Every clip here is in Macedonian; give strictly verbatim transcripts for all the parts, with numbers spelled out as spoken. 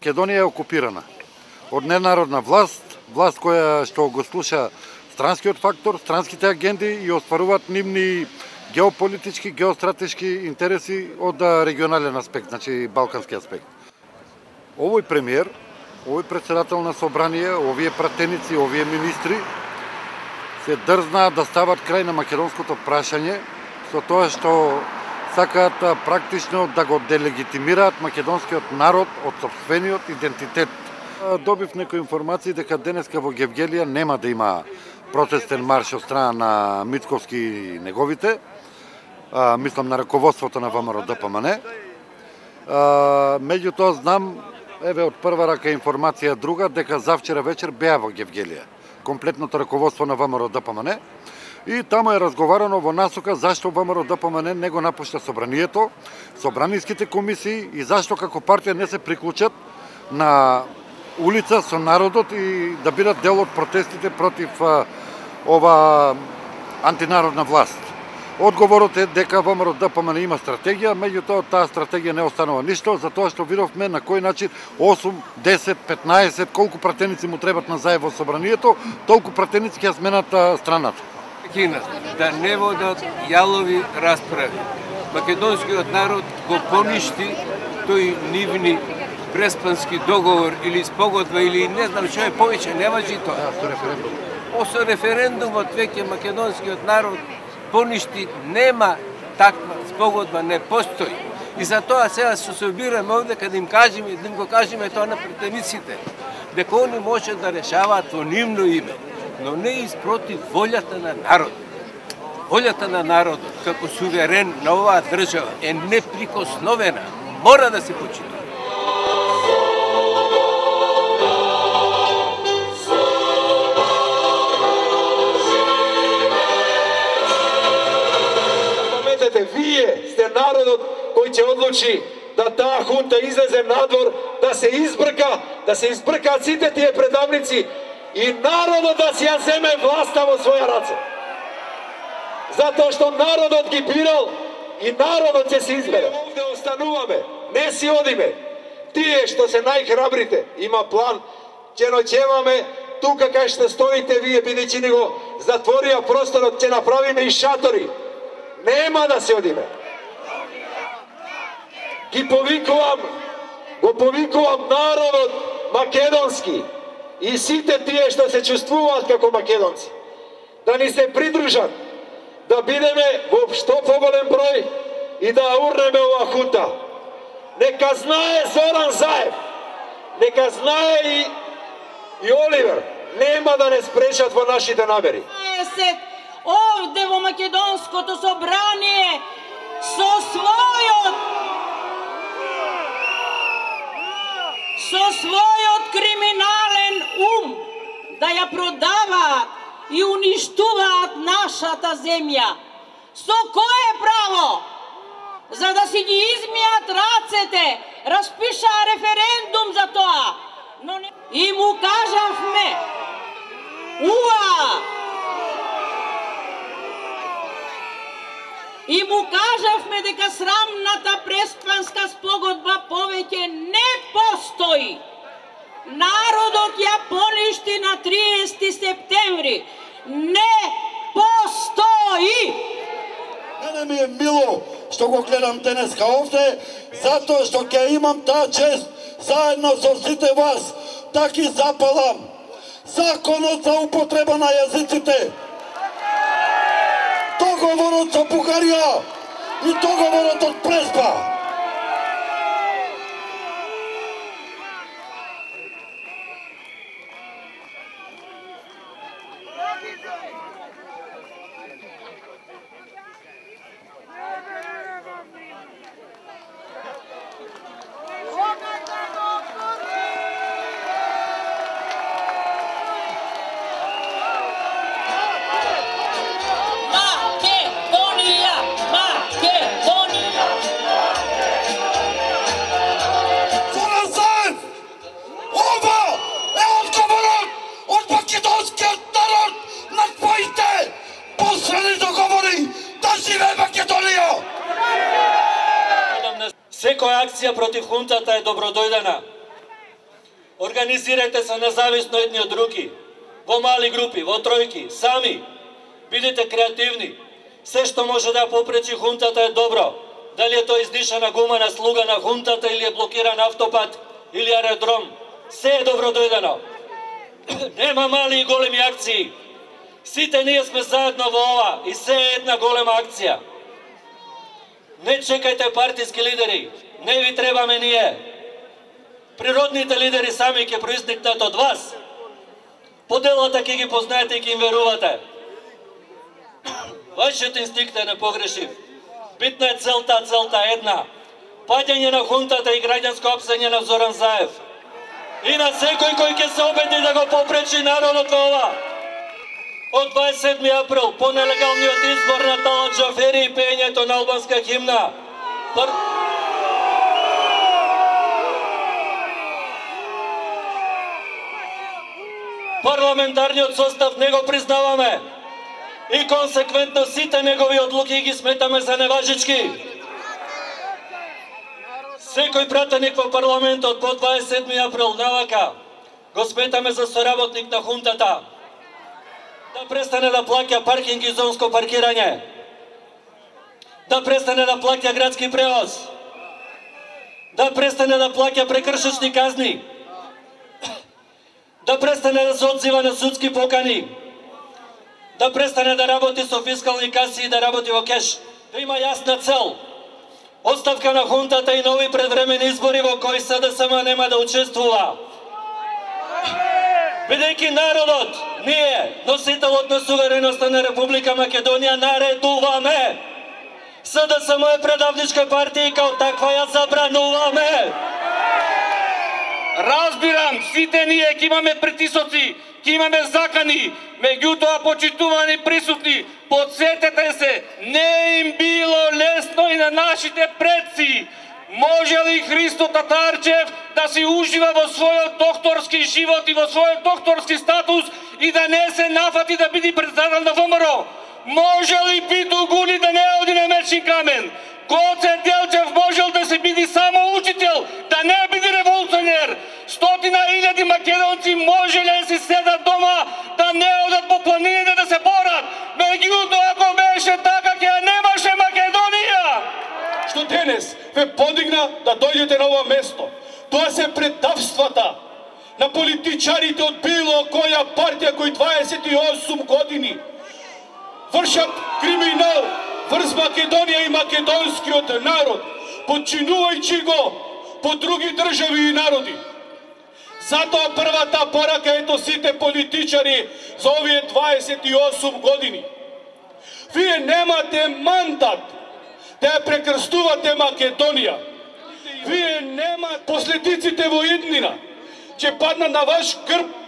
Македонија е окупирана од ненародна власт, власт која што го слуша странскиот фактор, странските агенди и остваруваат нивни геополитички, геостратешки интереси од регионален аспект, значи балкански аспект. Овој премиер, овој председател на собрание, овие пратеници, овие министри се дрзнаа да стават крај на македонското прашање со тоа што сакаат практично да го делегитимираат македонскиот народ од сопствениот идентитет. Добив некои информации дека денеска во Гевгелија нема да има протестен марш од страна на Мицковски и неговите, а, мислам на раководството на ВМРО-ДПМН. Меѓутоа знам, еве од прва рака информација друга, дека завчера вечер беа во Гевгелија комплетното раководство на ВМРО-ДПМН и таму е разговарано во насока зашто ВМРО-ДПМН не го напушта собранието, собраниските комисии и зашто како партија не се приклучат на улица со народот и да бидат дел од протестите против а, ова антинародна власт. Одговорот е дека ВМРО-ДПМН има стратегија, меѓутоа таа стратегија не останува ништо, затоа што видовме на кој начин осум, десет, петнаесет, колку пратеници му требат на заедно во собранието, толку пратеници ќе сменат страната. Кина, да не водат јалови расправи. Македонскиот народ го поништи тој нивни преспански договор или спогодба или не знам што е повеќе, не важи тоа. Да, со референдум. Осо референдумот веќе македонскиот народ поништи, нема таква спогодба, не постои. И за тоа сега се собираме овде каде им кажеме, да им го кажеме тоа на претениците, дека они може да решаваат во нивно име, но не испротив волјата на народот. Волјата на народот како суверен на оваа држава е неприкосновена, мора да се почита. Вие сте народот кој ќе одлучи да таа хунта излезе надвор, да се избрка, да се избркаат сите тие предавници и народот да си ја земе власта во своја раце. Затоа што народот ги бирал и народот ќе се избере. Овде остануваме, не си одиме. Тие што се најхрабрите, има план, ќе ноќеваме тука кај што стоите вие, бидејќи ни го затворија просторот, ќе направиме и шатори. Нема да се одиме. Ги повикувам, го повикувам народот македонски и сите тие што се чувствуваат како македонци, да ни се придружат, да бидеме во што поголем број и да урнеме ова хунта. Нека знае Зоран Заев, нека знае и, и Оливер, нема да не спречат во нашите намери. Овде во македонското собрание со својот со својот криминален ум да ја продаваат и уништуваат нашата земја. Со кое право? За да си ги измијат рацете, распишаа референдум за тоа. Но не... И му кажавме, уа! И му кажавме дека срамната преспанска спогодба повеќе не постои. Народот ја поништи на триесети септември. Не постои! Мене ми е мило што го гледам денеска овде, затоа што ќе имам таа чест заедно со сите вас да ги запалам законот за употреба на јазиците, договорот за Бугарија и договорот од Преспа. Секоја акција против хунтата е добродојдена. Организирајте се независно едни од други, во мали групи, во тројки, сами. Бидете креативни. Се што може да попречи хунтата е добро. Дали е тоа издишана гума на слуга на хунтата или е блокиран автопат или аеродром. Се е добро дојдено. Нема мали и големи акции. Сите ние сме заедно во ова и се е една голема акција. Не чекајте партиски лидери. Не ви требаме ние. Природните лидери сами ќе произникнат од вас. Поделата ќе ги познаете и ќе им верувате. Вашиот инстинкт е непогрешив. Битна е целта, целта е една. Паѓање на хунтата и граѓанско апсење на Зоран Заев. И на секој кој ќе се обеди да го попречи народот во ова. Од дваесет и седми април, по нелегалниот избор на Талат Джафери и пеењето на албанска химна. Пар... Парламентарниот состав не го признаваме. И консеквентно сите негови одлуки ги сметаме за неважички. Секој пратеник во парламентот по дваесет и седми април навака го сметаме за соработник на хунтата. Да престане да плаќа паркинг и зонско паркирање. Да престане да плаќа градски превоз. Да престане да плаќа прекршечни казни. Да престане да се одзива на судски покани. Да престане да работи со фискални каси и да работи во кеш. Да има јасна цел. Оставка на хунтата и нови предвремени избори во кои СДСМ нема да учествува. Бидејќи народот, ние, носителот на сувереноста на Република Македонија, наредуваме. СДСМ е предавничка партија и као таква ја забрануваме. Разбирам, сите ние ќе имаме притисоци, ќе имаме закани, меѓутоа почитувани присутни, подсетете се, не им било лесно и на нашите предци. Може ли Христо Татарчев да си ужива во својот докторски живот и во својот докторски статус и да не се нафати да биде председател на ВМРО? Може ли Пито Гуни да не оди на мечен камен? Гоце Делчев можел да се биде само учител, да не биде револуционер. Стотина илјади македонци можеле да си седат дома, да не одат по планините да се борат. Меѓутоа, ако беше така, ќе немаше Македонија. Што денес ве подигна да дојдете на ова место. Тоа се предавствата на политичарите од било која партија кои дваесет и осум години вршат криминал врз Македонија и македонскиот народ, подчинувајќи го по други држави и народи. Затоа првата порака ето сите политичари за овие дваесет и осум години. Вие немате мандат да ја прекрстувате Македонија. Вие немате последиците во иднина, ќе паднат на ваш грб.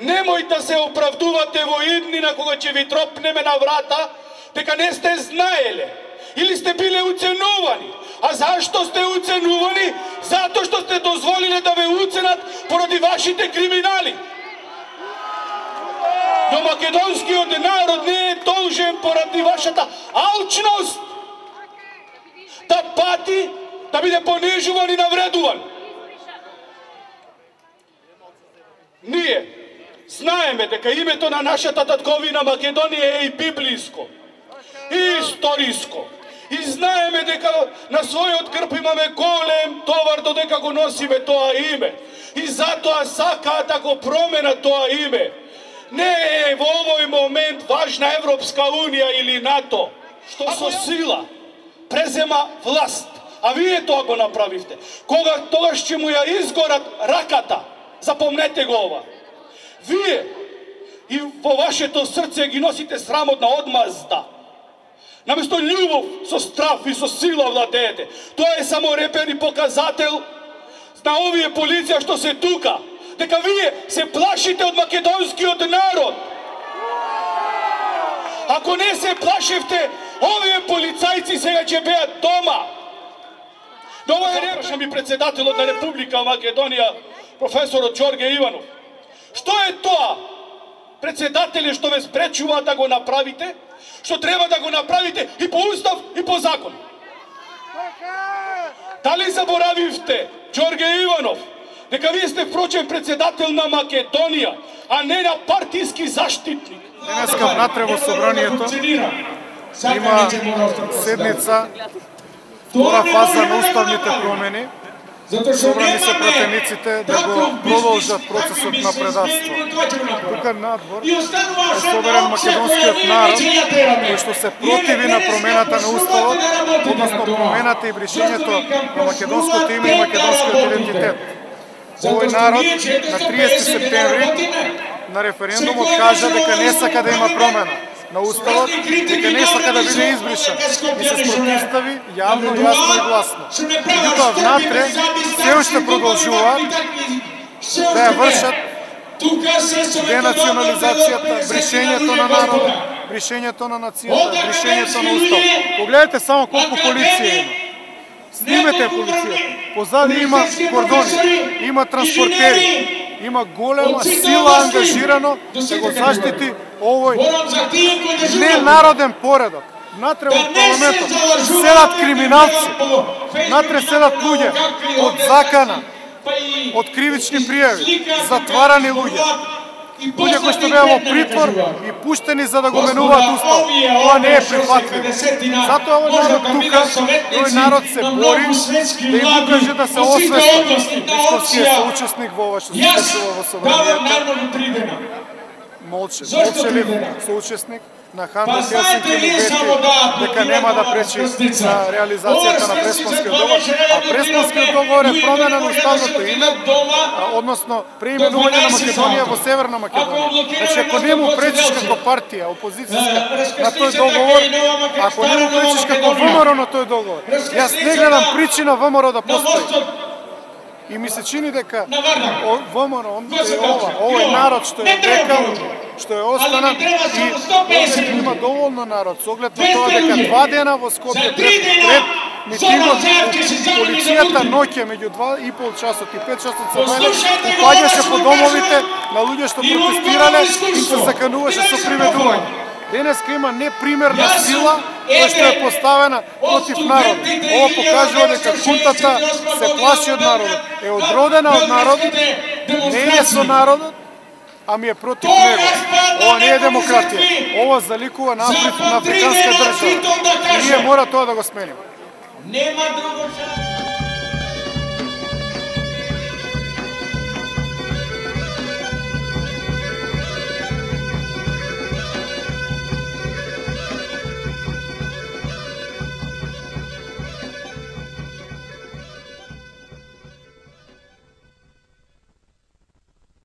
Немој да се оправдувате во иднина кога ќе ви тропнеме на врата, дека не сте знаеле или сте биле уценувани. А зашто сте уценувани? Затоа што сте дозволиле да ве уценат поради вашите криминали. Но македонскиот народ не е должен поради вашата алчност да пати, да биде понижуван и навредуван. Ние знаеме дека името на нашата татковина Македонија е и библиско, и историско. И знаеме дека на својот грб имаме голем товар додека го носиме тоа име. И затоа сакаат да го променат тоа име. Не е во овој момент важна Европска Унија или НАТО, што со сила презема власт. А вие тоа го направивте. Кога тогаш ќе му ја изгорат раката, запомнете го ова. Вие и во вашето срце ги носите срамотна одмазда. Наместо љубов, со страв и со сила владеете. Тоа е само репер и показател на овие полиција што се тука. Дека вие се плашите од македонскиот народ. Ако не се плашевте, овие полицајци сега ќе беат дома. Но ова е репрашам и председателот на Република Македонија, професорот Ѓорге Иванов. Што е тоа? Председателе што ве спречува да го направите, што треба да го направите и по устав и по закон. Дали заборавивте, Ѓорге Иванов, дека вие сте впрочем председател на Македонија, а не на партиски заштитник. Денеска внатре во собранието има седница, втора фаза на уставните промени. Собрани се пратениците да го продолжат процесот на предавство. Тука надвор е соберен македонскиот народ кој што се противи на промената на уставот, односно промената и бришењето на македонското име и македонскиот идентитет. Овој народ на триесети септември на референдумот кажа дека не сака да има промена на уставот, дека не сака да биде избришан и се спротивстави јавно, јасно и гласно. Меѓутоа внатре се уште продолжуваат да ја вршат денационализацијата, бришењето на народот, бришењето на нацијата, бришењето на уставот. Погледнете само колку полиција има. Снимете полицијата. Позади има кордони, има транспортери, има голема сила ангажирано да го заштити овој ненароден поредок. Натре во парламентот седат криминалци, натре седат луѓе од закана, од кривични пријави, затварани луѓе. Луѓе кои што беа во притвор и пуштени за да го менуваат уставот. Тоа не е прифатливо. Затоа овој народ тука, овој народ се бори да им покаже да се освестат. Мицковски е соучесник во ова што се случува во собранието. Молче, молчелив соучесник на Хантер Хелсинки му вети дека нема да пречи на реализацијата на Преспанскиот договор, а Преспанскиот договор е промена на уставното име, односно преименување на Македонија во Северна Македонија. Значи, ако не му пречиш како партија, опозицијска на тој договор, ако не му пречиш како ВМРО на тој договор, јас не гледам причина ВМРО да постои. И ми се чини дека ВМРО, ова, овој народ што е векал, што е останат и овде има доволно народ, со оглед на тоа дека два дена во Скопје пред, пред митингот полицијата ноќе меѓу два и пол часот и пет часот се бајле, упаѓаше по домовите на луѓе што протестирале и се закануваше со приведување. Денеска има непримерна сила која што е поставена против народот. Ова покажува дека хунтата се плаши од народот, е одродена од народот, не е со народот, ами е против него. Ова не е демократија. Ова заликува на, Афри... на африканска држава. И ние мора тоа да го сменим.